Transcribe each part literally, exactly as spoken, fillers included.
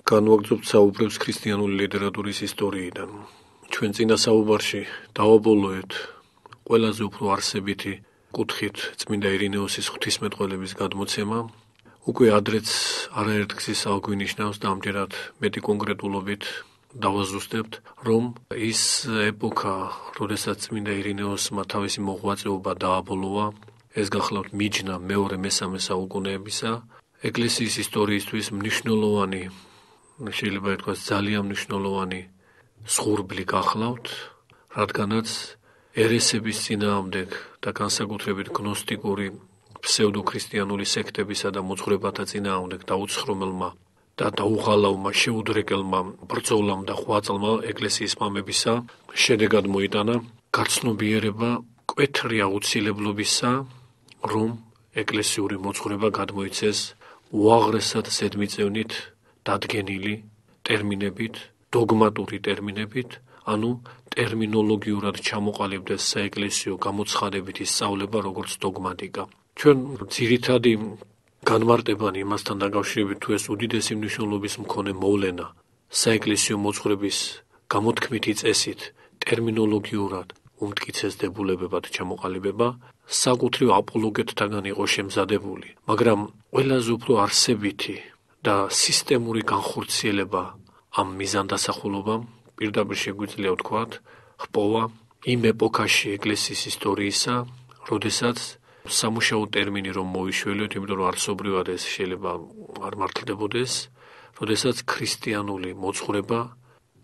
განვაგრძობთ საუბრებს ქრისტიანული ლიტერატურის ისტორიიდან. ჩვენ წინა საუბარში დავაბოლოეთ ყველაზე უფრო არსებითი კუთხით წმინდა ირინეოსის ღვთისმეტყველების გადმოცემა. უკვე ადრეც არაერთ გზის აღვნიშნავს და ამჯერად მეტი კონკრეტულობით დავაზუსტებთ, რომ ის ეპოქა, როდესაც წმინდა ირინეოსმა თავისი მოღვაწეობა დააბოლოვა, ეს გახლავთ მიჯნა მეორე მესამე საუკუნეებისა, ეკლესიის ისტორიისთვის მნიშვნელოვანი, შეიძლება ითქვას ძალიან მნიშვნელოვანი სხურბლი გახლავთ, რადგანაც ერესების წინააღმდეგ და განსაკუთრებით გნოსტიკური ფსევდოქრისტიანული სექტებისა და მოძღვრებათა წინააღმდეგ დაუცხრომელმა და დაუღალავმა შეუდრეკელმა ბრძოლამ და ღვაწლმა ეკლესიის მამებისა შედეგად მოიტანა გაცნობიერება მკვეთრი აუცილებლობისა, რომ ეკლესიური მოძღვრება გადმოიცეს უაღრესად ზედმიწევნით დადგენილი ტერმინებით, დოგმატური ტერმინებით, ანუ ტერმინოლოგიურად ჩამოყალიბდეს საეკლესიო გამოცხადებითი სწავლება, როგორც დოგმატიკა. ჩვენ ძირითადი განმარტებანი იმასთან დაკავშირებით, თუ ეს უდიდესი მნიშვნელობის მქონე მოვლენა საეკლესიო მოძღვრების გამოთქმითი წესით ტერმინოლოგიურად უმტკიცეს დებულებებად ჩამოყალიბება, საკუთრივ აპოლოგეტთაგან იყო შემზადებული, მაგრამ ყველაზე უფრო არსებითი და სისტემური განხორციელება ამ მიზანდასახულობამ პირდაპირ შეგვიძლია ვთქვათ, ჰპოვა იმ ეპოქაში ეკლესიის ისტორიისა, როდესაც სამუშაო ტერმინი რომ მოიშველიოთ, იმიტომ რომ არსობრივად ეს შეიძლება არ მართლდებოდეს, როდესაც ქრისტიანული მოძღვრება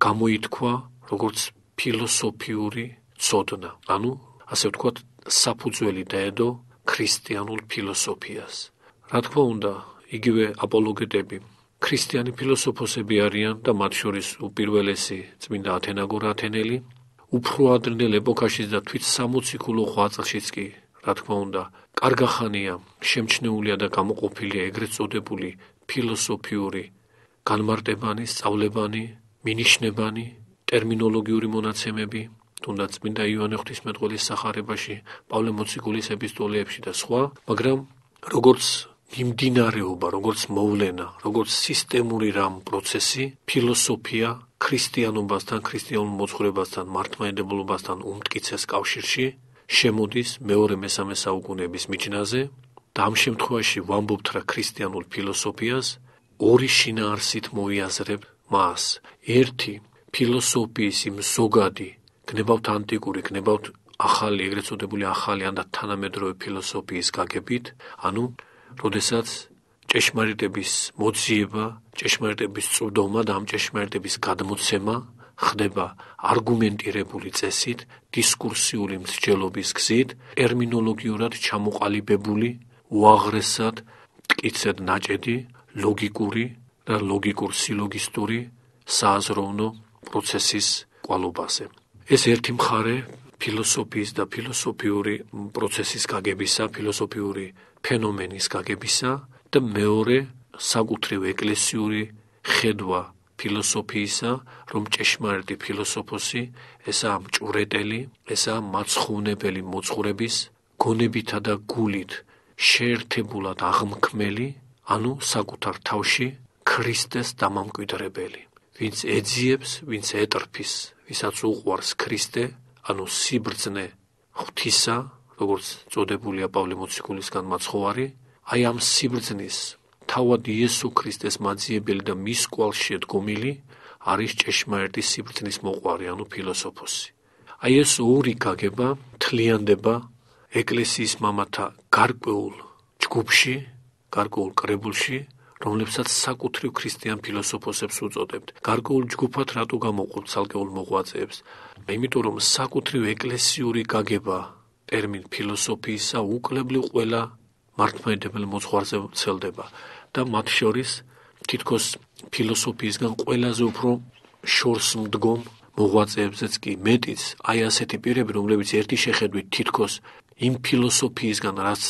გამოითქვა როგორც ფილოსოფიური ცოდნა, ანუ ასე ვთქვათ, საფუძველი დაედო ქრისტიანულ ფილოსოფიას. რა თქმა უნდა, იგივე აპოლოგეტები ქრისტიანი ფილოსოფოსები არიან და მათ შორის უპირველესი წმინდა ათენაგორა ათენელი, უფრო ადრინდელ ეპოქაშიც და თვით სამოციქულო ღვაწლშიც კი, რა თქმა უნდა, კარგახანია შემჩნეულია და გამოყოფილია ეგრეთ წოდებული ფილოსოფიური განმარტებანი, სწავლებანი, მინიშნებანი, ტერმინოლოგიური მონაცემები, თუნდაც წმინდა იოანე ღვთისმეტყველის სახარებაში, პავლე მოციქულის ეპისტოლეებში და სხვა, მაგრამ როგორც მიმდინარეობა, როგორც მოვლენა, როგორც სისტემური რამ პროცესი, ფილოსოფია ქრისტიანობასთან, ქრისტიანულ მოძღვრებასთან, მართლმადიდებლობასთან უმტკიცეს კავშირში შემოდის მეორე მესამე საუკუნეების მიჯნაზე და ამ შემთხვევაში ვამბობთ რა ქრისტიანულ ფილოსოფიას ორი შინაარსით მოიაზრებ მას. ერთი ფილოსოფიის იმ ზოგადი, გნებავთ ანტიკური, გნებავთ ახალი, ეგრეთ წოდებული ახალი ან და თანამედროვე ფილოსოფიის გაგებით, ანუ როდესაც ჭეშმარიტების მოძიება, ჭეშმარიტების წვდომა და ამ ჭეშმარიტების გადმოცემა ხდება არგუმენტირებული წესით, დისკურსიული მსჯელობის გზით, ტერმინოლოგიურად ჩამოყალიბებული, უაღრესად მტკიცედ ნაჭედი, ლოგიკური და ლოგიკურ-სილოგისტური სააზროვნო პროცესის კვალობაზე. ეს ერთი მხარე ფილოსოფიის და ფილოსოფიური პროცესის გაგებისა, ფილოსოფიური ფენომენის გაგებისა და მეორე საკუთრივ ეკლესიური ხედვა ფილოსოფიისა, რომ ჭეშმარიტი ფილოსოფოსი ესაა მჭვრეტელი, ესაა მაცხოვნებელი მოძღვრების გონებითა და გულით შეერთებულად აღმქმელი, ანუ საკუთარ თავში ქრისტეს დამამკვიდრებელი, ვინც ეძიებს, ვინც ეტრფის, ვისაც უყვარს ქრისტე, ანუ სიბრძნე ღვთისა, როგორც წოდებულია პავლე მოციქულისგან მაცხოვარი, აი ამ სიბრძნის თავად იესო ქრისტეს მაძიებელი და მის კვალში დგომილი არის ჭეშმარიტი სიბრძნის მოყვარი, ანუ ფილოსოფოსი. აი ეს ორი გაგება თლიანდება ეკლესიის მამათა გარკვეულ ჯგუფში, გარკვეულ კრებულში, რომლებსაც საკუთრივ ქრისტიან ფილოსოფოსებს უწოდებთ. გარკვეულ ჯგუფად რატო გამოვყოთ ცალკეულ მოღვაწეებს? იმიტომ რომ საკუთრივ ეკლესიური გაგება ტერმინ ფილოსოფიისა უკლებლივ ყველა მართლმადიდებელ მოძღვარზე ვრცელდება და მათ შორის თითქოს ფილოსოფიისგან ყველაზე უფრო შორს მდგომ მოღვაწეებზეც კი მეტიც, აი ასეთი პირები, რომლებიც ერთი შეხედვით თითქოს იმ ფილოსოფიისგან, რაც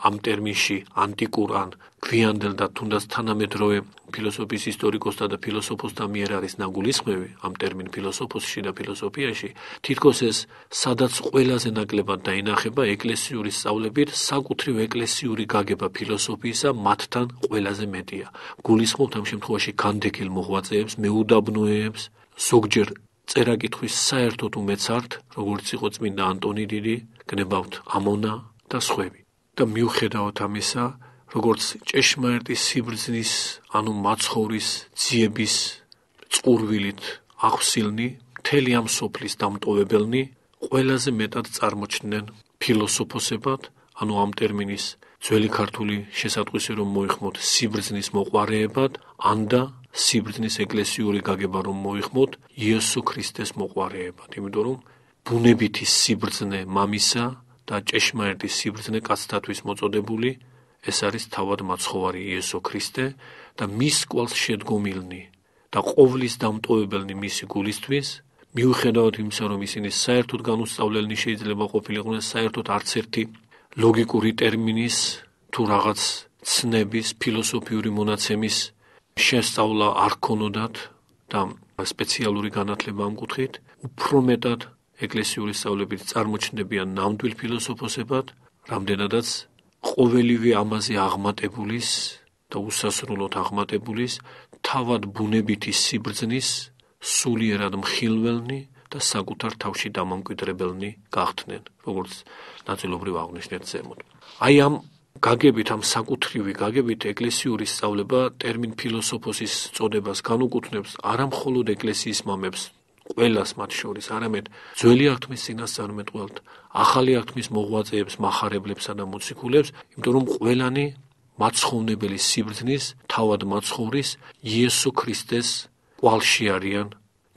ამ ტერმინში ანტიკურ ან გვიანდელ და თუნდაც თანამედროვე ფილოსოფიის ისტორიკოსთა და ფილოსოფოსთა მიერ არის ნაგულისხმევი ამ ტერმინ ფილოსოფოსში და ფილოსოფიაში, თითქოს ეს სადაც ყველაზე ნაკლებად დაინახება ეკლესიური სწავლებით, საკუთრივ ეკლესიური გაგება ფილოსოფიისა მათთან ყველაზე მეტია. გულისხმობთ ამ შემთხვევაში განდეგილ მოღვაწეებს, მეუდაბნოებს, ზოგჯერ წერა-კითხვის საერთოდ უმეც ართ, როგორც იყო წმინდა ანტონი დიდი, გნებავთ ამონა და სხვები. და მიუხედავად ამისა, როგორც ჭეშმარიტი სიბრძნის, ანუ მაცხოვრის ძიების წყურვილით ახსილნი, მთელი ამ სოფლის დამტოვებელნი ყველაზე მეტად წარმოჩნდნენ ფილოსოფოსებად, ანუ ამ ტერმინის ძველი ქართული შესატყვისი რომ მოიხმოთ სიბრძნის მოყვარეებად, ანდა სიბრძნის ეკლესიური გაგება რომ მოიხმოთ იესო ქრისტეს მოყვარეებად, იმიტომ რომ ბუნებითი სიბრძნე მამისა და ჭეშმარიტი სიბრძნე კაცთათვის მოწოდებული, ეს არის თავად მაცხოვარი იესო ქრისტე და მის კვალს შედგომილნი და ყოვლის დამტოვებელნი მისი გულისთვის, მიუხედავად იმისა, რომ ისინი საერთოდ განუსწავლელნი შეიძლება ყოფილიყვნენ, საერთოდ არც ერთი ლოგიკური ტერმინის თუ რაღაც ცნების, ფილოსოფიური მონაცემის შესწავლა არ ქონოდათ და სპეციალური განათლება ამ კუთხით, უფრო მეტად ეკლესიური სწავლებით წარმოჩნდებიან ნამდვილ ფილოსოფოსებად, რამდენადაც ყოველივე ამაზე აღმატებულის და უსასრულოდ აღმატებულის თავად ბუნებითი სიბრძნის სულიერად მხილველნი და საკუთარ თავში დამამკვიდრებელნი გახდნენ, როგორც ნაწილობრივ აღნიშნეთ ზემოთ. აი ამ გაგებით, ამ საკუთრივი გაგებით ეკლესიური სწავლება ტერმინ ფილოსოფოსის წოდებას განუკუთვნებს არა მხოლოდ ეკლესიის მამებს, ყველას მათ შორის, არამედ ძველი აღთქმის წინასწარმეტყველთ, ახალი აღთქმის მოღვაწეებს, მახარებლებსა და მოციქულებს, იმიტომ რომ ყველანი მაცხოვრებელი სიბრძნის, თავად მაცხოვრის იესო ქრისტეს კვალში არიან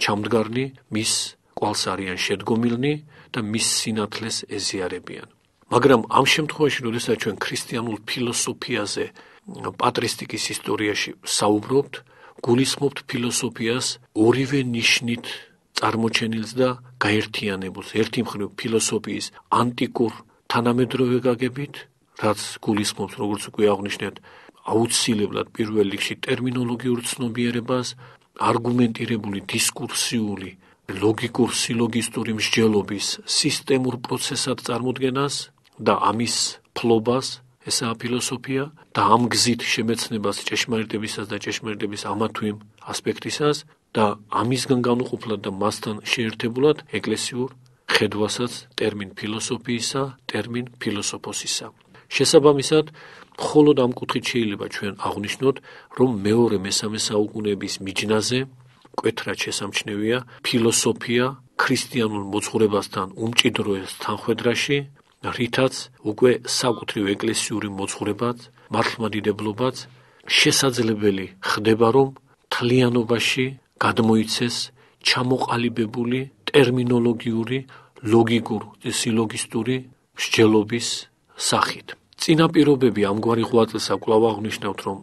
ჩამდგარნი, მის კვალს არიან შედგომილნი და მის სინათლეს ეზიარებიან. მაგრამ ამ შემთხვევაში, როდესაც ჩვენ ქრისტიანულ ფილოსოფიაზე, პატრისტიკის ისტორიაში საუბრობთ, გულისხმობთ ფილოსოფიას ორივე ნიშნით წარმოჩენილს და გაერთიანებულს. ერთი მხრივ ფილოსოფიის ანტიკურ თანამედროვე გაგებით, რაც გულისხმობს, როგორც უკვე აღნიშნეთ, აუცილებლად პირველ რიგში ტერმინოლოგიურ ცნობიერებას, არგუმენტირებული დისკურსიული, ლოგიკურ სილოგისტური მსჯელობის სისტემურ პროცესად წარმოდგენას და ამის ფლობას, ესაა ფილოსოფია, და ამ გზით შემეცნებას ჭეშმარიტებისას და ჭეშმარიტების ამა თუ იმ ასპექტისას და ამისგან განუყოფლად და მასთან შეერთებულად ეკლესიურ ხედვასაც ტერმინ ფილოსოფიისა, ტერმინ ფილოსოფოსისა. შესაბამისად, მხოლოდ ამ კუთხით შეიძლება ჩვენ აღვნიშნოთ, რომ მეორე მესამე საუკუნეების მიჯნაზე მკვეთრად შესამჩნევია ფილოსოფია ქრისტიანულ მოძღვრებასთან უმჭიდროეს თანხვედრაში, რითაც უკვე საკუთრივ ეკლესიური მოძღვრებაც, მართლმადიდებლობაც შესაძლებელი ხდება, რომ მთლიანობაში გადმოიცეს ჩამოყალიბებული ტერმინოლოგიური, ლოგიკურ და სილოგისტური მსჯელობის სახით. წინაპირობები ამგვარი ღვაწლისა კვლავ აღნიშნავთ, რომ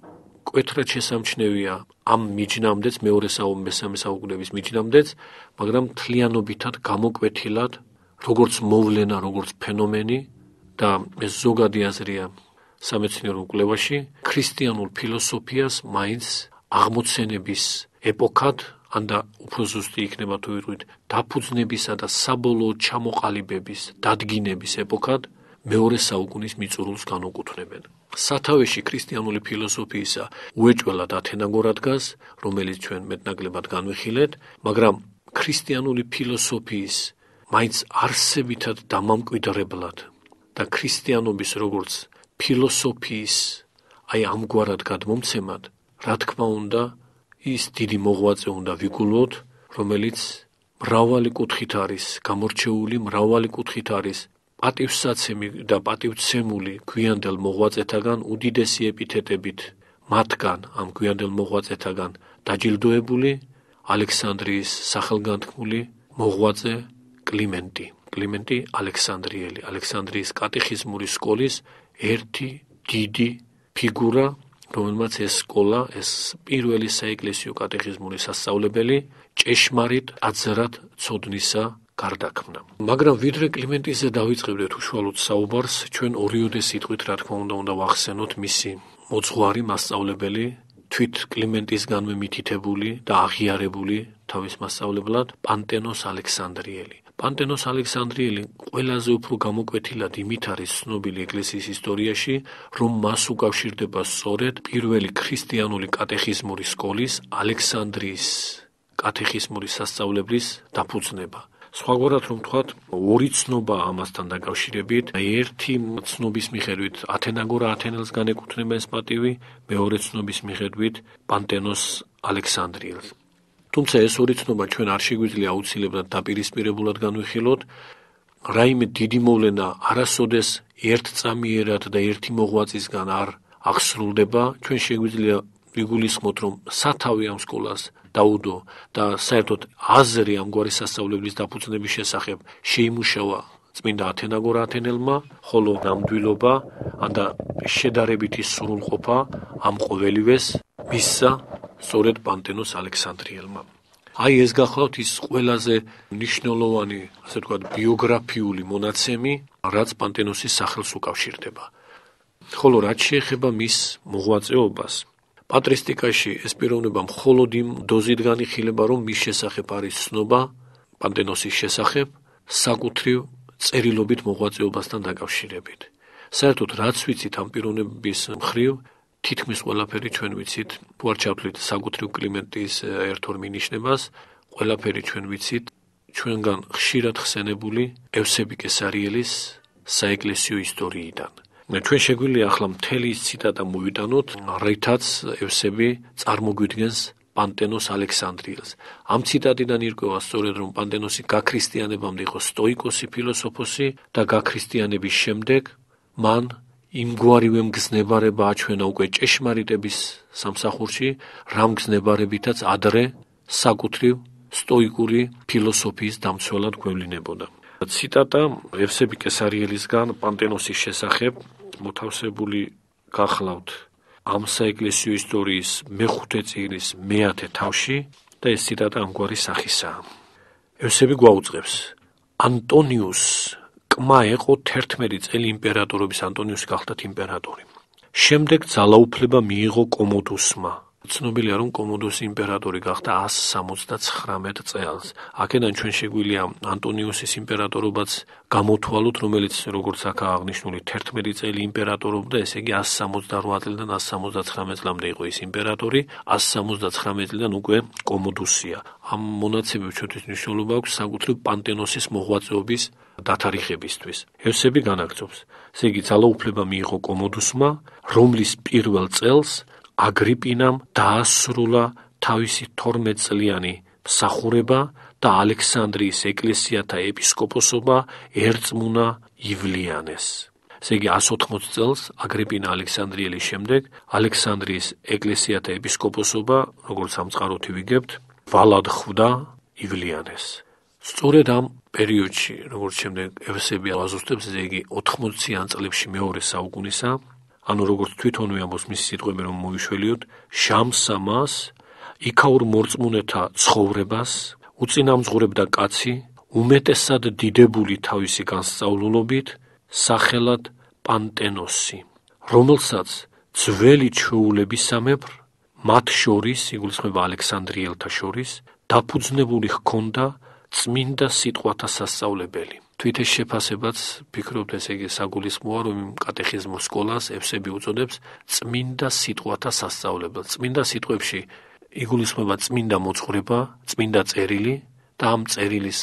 მკვეთრად შესამჩნევია ამ მიჯნამდეც, მეორე მესამე საუკუნეების მიჯნამდეც, მაგრამ მთლიანობითად გამოკვეთილად, როგორც მოვლენა, როგორც ფენომენი და ეს ზოგადი აზრია სამეცნიერო კვლევაში, ქრისტიანულ ფილოსოფიას მაინც აღმოცენების ეპოქად, ანდა უფრო ზუსტი იქნება თუ ვიტყვით, დაფუძნებისა და საბოლოო ჩამოყალიბების, დადგინების ეპოქად მეორე საუკუნის მიწურულს განუკუთვნებენ. სათავეში ქრისტიანული ფილოსოფიისა უეჭველად ათენაგორა დგას, რომელიც ჩვენ მეტნაკლებად განვიხილეთ, მაგრამ ქრისტიანული ფილოსოფიის მაინც არსებითად დამამკვიდრებლად და ქრისტიანობის როგორც ფილოსოფიის აი ამგვარად გადმომცემად, რა თქმა უნდა, ის დიდი მოღვაწე უნდა ვიგულოთ, რომელიც მრავალი კუთხით არის გამორჩეული, მრავალი კუთხით არის პატივსაცემი და პატივცემული გვიანდელ მოღვაწეთაგან უდიდესი ეპითეტებით მათგან, ამ გვიანდელ მოღვაწეთაგან დაჯილდოებული ალექსანდრიის სახელგანთქმული მოღვაწე კლიმენტი. კლიმენტი ალექსანდრიელი, ალექსანდრიის კატეხიზმური სკოლის ერთი დიდი ფიგურა, რომელმაც ეს სკოლა, ეს პირველი საეკლესიო კატეხიზმური სასწავლებელი ჭეშმარიტ აზრად ცოდნისა გარდაქმნა. მაგრამ ვიდრე კლიმენტიზე დავიწყებდეთ უშუალოდ საუბარს, ჩვენ ორიოდე სიტყვით, რა თქმა უნდა, უნდა ვახსენოთ მისი მოძღვარი, მასწავლებელი, თვით კლიმენტისგანვე მითითებული და აღიარებული თავის მასწავლებლად პანტენოს ალექსანდრიელი. პანტენოს ალექსანდრიელი ყველაზე უფრო გამოკვეთილად იმით არის ცნობილი ეკლესიის ისტორიაში, რომ მას უკავშირდება სწორედ პირველი ქრისტიანული კატეხიზმური სკოლის ალექსანდრიის კატეხიზმური სასწავლებლის დაფუძნება. სხვაგვარად რომ ვთქვათ, ორი ცნობა ამასთან დაკავშირებით, ერთი ცნობის მიხედვით ათენაგორა ათენელს განეკუთვნება ეს პატივი, მეორე ცნობის მიხედვით პანტენოს ალექსანდრიელს. თუმცა ეს ორი ცნობა ჩვენ არ შეგვიძლია აუცილებლად დაპირისპირებულად განვიხილოთ, რაიმე დიდი მოვლენა არასოდეს ერთწამიერად და ერთი მოღვაწისგან არ აღსრულდება, ჩვენ შეგვიძლია ვიგულისხმოთ, რომ სათავე ამ სკოლას დაუდო და საერთოდ აზრი ამგვარი სასწავლებლის დაფუძნების შესახებ შეიმუშავა წმინდა ათენაგორა ათენელმა, ხოლო ნამდვილობა და შედარებითი სრულყოფა ამ ყოველივეს მისცა სწორედ პანტენოს ალექსანდრიელმა. აი ეს გახლავთ ის ყველაზე მნიშვნელოვანი, ასე ვთქვათ, ბიოგრაფიული მონაცემი, რაც პანტენოსის სახელს უკავშირდება. ხოლო რაც შეეხება მის მოღვაწეობას, პატრისტიკაში ეს პიროვნება მხოლოდ იმ დოზით განიხილება, რომ მის შესახებ არის ცნობა პანტენოსის შესახებ საკუთრივ წერილობით მოღვაწეობასთან დაკავშირებით. საერთოდ რაც ვიცით ამ პიროვნების მხრივ, თითქმის ყველაფერი ჩვენ ვიცით, თუ არ ჩავთვლით საკუთრივ კლიმენტის ერთ-ორ მინიშნებას, ყველაფერი ჩვენ ვიცით ჩვენგან ხშირად ხსენებული ევსები კესარიელის საეკლესიო ისტორიიდან. ჩვენ შეგვიძლია ახლა მთელი ის ციტატა მოვიტანოთ, რითაც ევსები წარმოგვიდგენს პანტენოს ალექსანდრიელს. ამ ციტატიდან ირკვევა სწორედ, რომ პანტენოსი გაქრისტიანებამდე იყო სტოიკოსი ფილოსოფოსი და გაქრისტიანების შემდეგ მან იმგვარივე მგზნებარება აჩვენა უკვე ჭეშმარიტების სამსახურში, რამ მგზნებარებითაც ადრე საკუთრივ სტოიკური ფილოსოფიის დამცველად გვევლინებოდა. ციტატა ევსები კესარიელისგან პანტენოსის შესახებ მოთავსებული გახლავთ ამ საეკლესიო ისტორიის მეხუთე წიგნის მეათე თავში და ეს ციტატა ამგვარი სახისაა. ევსები გვაუწყებს: ანტონიუს კმა ეყო თერთმეტი წელი იმპერატორობის, ანტონიუსი გახდა იმპერატორი. შემდეგ ძალაუფლება მიიღო კომოდუსმა. ცნობილია, რომ კომოდუსი იმპერატორი გახდა ასი სამოცდაცხრამეტ წელს. აქედან ჩვენ შეგვიძლია ანტონიუსის იმპერატორობაც გამოთვალოთ, რომელიც როგორც აქაა აღნიშნული თერთმეტი წელი იმპერატორობდა, ესე იგი ასი სამოცდარვა წლიდან ასი სამოცდაცხრამეტ წლამდე იყო ის იმპერატორი, ასი სამოცდაცხრამეტ წლიდან უკვე კომოდუსია. ამ მონაცემებს ჩვენთვის მნიშვნელობა აქვს საკუთრივ პანტენოსის მოღვაწეობის დათარიღებისთვის. ევსები განაგრძობს, ესე იგი ძალაუფლება მიიღო კომოდუსმა, რომლის პირველ წელს აგრიპინამ დაასრულა თავისი თორმეტწლიანი მსახურება და ალექსანდრიის ეკლესიათა ეპისკოპოსობა ერწმუნა ივლიანეს. ესე იგი ასი ოთხმოცი წელს აგრიპინა ალექსანდრიელის შემდეგ ალექსანდრიის ეკლესიათა ეპისკოპოსობა, როგორც სამწყაროთი ვიგებთ, ვალად ხვდა ივლიანეს. სწორედ ამ პერიოდში, როგორც შემდეგ ევსები აზუსტებს, ესე იგი ოთხმოციან წლებში მეორე საუკუნისა, ანუ როგორც თვითონვე ამბობს მისი სიტყვები, რომ მოიშველიოთ, შამსა მას იქაურ მორწმუნეთა ცხოვრებას უწინამძღვრებდა კაცი, უმეტესად დიდებული თავისი განსწავლულობით, სახელად პანტენოსი, რომელსაც ძველი ჩვეულებისამებრ, მათ შორის, იგულისხმება ალექსანდრიელთა შორის, დაფუძნებული ჰქონდა წმინდა სიტყვათა სასწავლებელი. თვით ეს შეფასებაც ფიქრობთ, ესე იგი საგულისხმოა, რომ იმ კატეხიზმურ სკოლას ევსები უწოდებს წმინდა სიტყვათა სასწავლებელს. წმინდა სიტყვებში იგულისხმება წმინდა მოძღვრება, წმინდა წერილი და ამ წერილის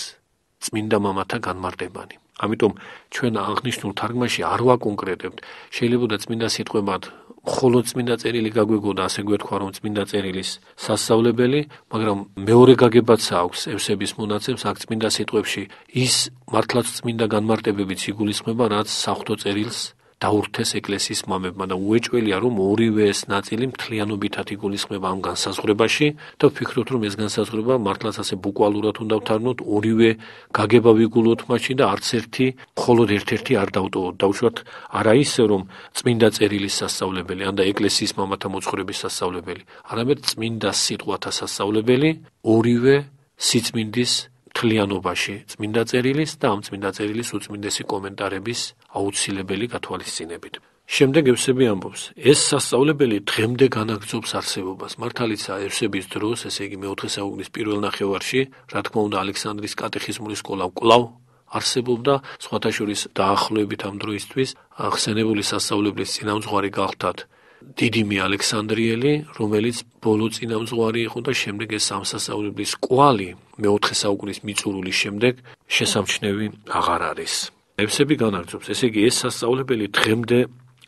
წმინდა მამათა განმარტებანი. ამიტომ ჩვენ აღნიშნულ თარგმანში არ ვაკონკრეტებთ, შეიძლება წმინდა სიტყვებად მხოლოდ წმინდა წერილი გაგვეგოდა, ასე გვეთქვა, რომ წმინდა წერილის სასწავლებელი, მაგრამ მეორე გაგებაც აქვს ევსების მონაცემს, აქ წმინდა სიტყვებში ის მართლაც წმინდა განმარტებებიც იგულისხმება, რაც საღვთო წერილს დაურთეს ეკლესიის მამებმა და უეჭველია, რომ ორივე ეს ნაწილი მთლიანობითად იგულისხმება ამ განსაზღვრებაში და ვფიქრობთ, რომ ეს განსაზღვრება მართლაც ასე ბუკვალურად უნდა ვთარგმნოთ, ორივე გაგება ვიგულოთ მაშინ და არც ერთი მხოლოდ ერთ-ერთი არ დავტოვოთ. დავუშვათ არა ისე, რომ წმინდა წერილის სასწავლებელი, ან და ეკლესიის მამათა მოძღვრების სასწავლებელი, არამედ წმინდა სიტყვათა სასწავლებელი ორივე სიწმინდის მთლიანობაში, წმინდა წერილის და ამ წმინდა წერილის უწმინდესი კომენტარების აუცილებელი გათვალისწინებით. შემდეგ ევსები ამბობს, ეს სასწავლებელი დღემდე განაგრძობს არსებობას. მართალიცაა ევსების დროს, ესე იგი მეოთხე საუკუნის პირველ ნახევარში, რა თქმა უნდა, ალექსანდრიის კატეხიზმური სკოლა კვლავ არსებობდა, სხვათა შორის დაახლოებით ამ დროისთვის ხსენებული სასწავლებლის წინამძღვარი გახლდათ დიდიმი ალექსანდრიელი, რომელიც ბოლო წინამძღვარი იყო და შემდეგ ეს ამ სასწავლებლის კვალი მეოთხე საუკუნის მიწურულის შემდეგ შესამჩნევი აღარ არის. ევსები განაგრძობს, ესე იგი ეს სასწავლებელი დღემდე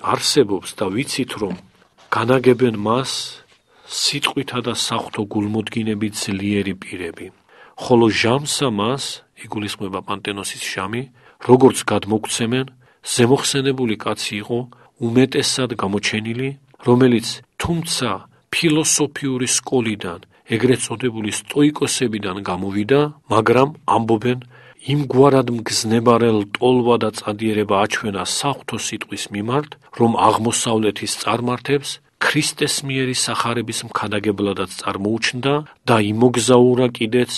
არსებობს და ვიცით, რომ განაგებენ მას სიტყვითა და საღვთო გულმოდგინებით ძლიერი პირები. ხოლო ჟამსა მას, იგულისხმება პანტენოსის ჟამი, როგორც გადმოგცემენ, ზემოხსენებული კაცი იყო, უმეტესად გამოჩენილი, რომელიც თუმცა ფილოსოფიური სკოლიდან, ეგრეთ წოდებული სტოიკოსებიდან გამოვიდა, მაგრამ ამბობენ, იმგვარად მგზნებარელ ტოლვა და წადიერება აჩვენა საღვთო სიტყვის მიმართ, რომ აღმოსავლეთის წარმართებს ქრისტეს მიერი სახარების მქადაგებლადაც წარმოუჩნდა და იმოგზაურა კიდეც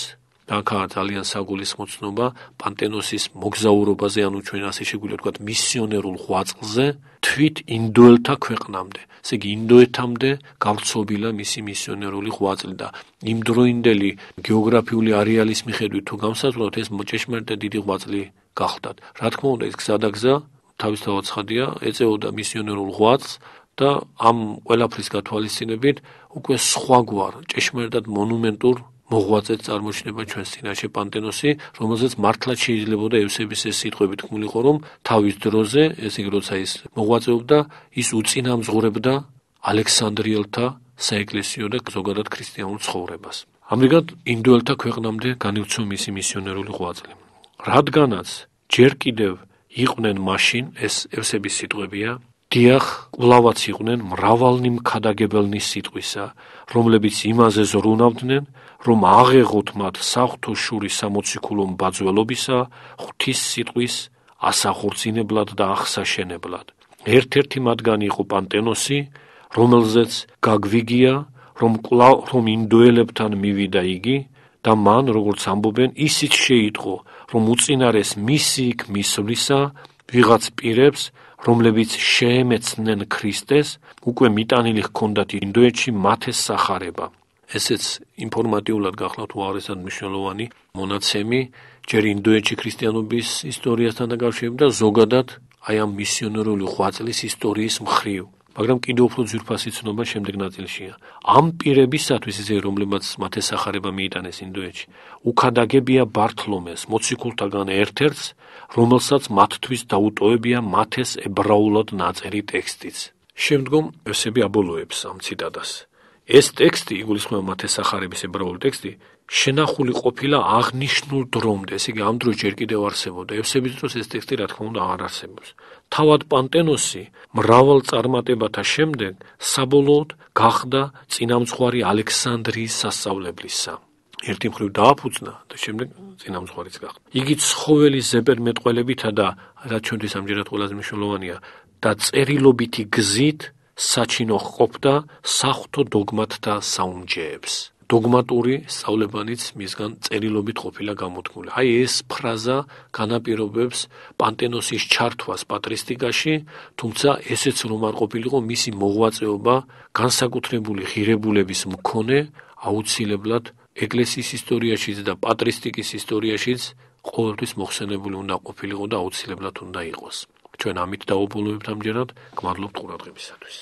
და აქაა ძალიან საგულისხმო ცნობა პანტენოსის მოგზაურობაზე, ანუ ჩვენ ასე შეგვიძლია ვთქვათ მისიონერულ ღვაწლზე თვით ინდოელთა ქვეყნამდე. ესე იგი ინდოეთამდე გავრცობილა მისი მისიონერული ღვაწლი და იმდროინდელი გეოგრაფიული არეალის მიხედვით თუ გამსაზღვრავთ, ეს ჭეშმარიტად დიდი ღვაწლი გახლდათ. რა თქმა უნდა, ეს გზადაგზა თავისთავად ცხადია, ეწეოდა მისიონერულ ღვაწლს და ამ ყველაფრის გათვალისწინებით უკვე სხვაგვარ ჭეშმარიტად მონუმენტურ მოღვაწედ წარმოჩნდება ჩვენს წინაშე პანტენოსი, რომელზეც მართლაც შეიძლებოდა ევსების ეს სიტყვები თქმულიყო, რომ თავის დროზე, ესე იგი როცა ის მოღვაწეობდა, ის უწინამძღვრებდა ალექსანდრიელთა საეკლესიო და ზოგადად ქრისტიანულ ცხოვრებას. ამრიგად ინდოელთა ქვეყნამდე განივცო მისი მისიონერული ღვაწლი. რადგანაც ჯერ კიდევ იყვნენ მაშინ, ეს ევსების სიტყვებია, დიახ, კვლავაც იყვნენ მრავალნი მქადაგებელნი სიტყვისა, რომლებიც იმაზე ზრუნავდნენ, რომ აღეღოთ მათ საღვთო შურის სამოციქულო mbadzველობისა, ღვთის სიტყვის ასახორცინებლად და აღსაშენებლად. ერთ-ერთი მათგანი იყო პანტენოსი, რომელზეც გაგვიგია, რომ კვლავ რომ ინდოელებთან მივიდა იგი და მან, როგორც ამბობენ, ისიც შეიტყო, რომ უწინარეს მისი იქ მისვლისა ვიღაც პირებს, რომლებიც შეემეცნენ ქრისტეს, უკვე მიტანილი ჰქონდათ ინდოეთში მათეს სახარება. ესეც ინფორმატიულად გახლავთ უაღრესად მნიშვნელოვანი მონაცემი, ჯერ ინდოეთში ქრისტიანობის ისტორიასთან დაკავშირებით და ზოგადად აი ამ მისიონერული ღვაწლის ისტორიის მხრივ. მაგრამ კიდევ უფრო ძვირფასი ცნობა შემდეგ ნაწილშია. ამ პირებისათვის, ისე რომლებმაც მათეს სახარება მიიტანეს ინდოეთში, უქადაგებია ბართლომეს, მოციქულთაგან ერთ-ერთს, რომელსაც მათთვის დაუტოვებია მათეს ებრაულად ნაწერი ტექსტიც. შემდგომ ევსები აბოლოებს ამ ციტატას. ეს ტექსტი, იგულისხმება მათეს სახარების ებრაული ტექსტი, შენახული ყოფილა აღნიშნულ დრომდე, ესე იგი ამ დროს ჯერ კიდევ არსებობდა. ევსების დროს ეს ტექსტი, რა თქმა უნდა, აღარ არსებობს. თავად პანტენოსი მრავალ წარმატებათა შემდეგ საბოლოოდ გახდა წინამძღვარი ალექსანდრიის სასწავლებლისა. ერთი მხრივ დააფუძნა და შემდეგ წინამძღვარიც გახდა. იგი ცხოველის ზეპირმეტყველებითა და რაც ჩვენთვის ამჯერად ყველაზე მნიშვნელოვანია და წერილობითი გზით საჩინო ჰყოფდა საღვთო დოგმატთა საუნჯეებს. დოგმატური სწავლებანიც მისგან წერილობით ყოფილა გამოთქმული. აი ეს ფრაზა განაპირობებს პანტენოსის ჩართვას პატრისტიკაში, თუმცა ესეც რომ არ ყოფილიყო მისი მოღვაწეობა განსაკუთრებული ღირებულების მქონე, აუცილებლად ეკლესიის ისტორიაშიც და პატრისტიკის ისტორიაშიც ყოველთვის მოხსენებული უნდა ყოფილიყო და აუცილებლად უნდა იყოს. ჩვენ ამით დავაბოლოებთ ამჯერად, გმადლობთ ყურადღებისათვის.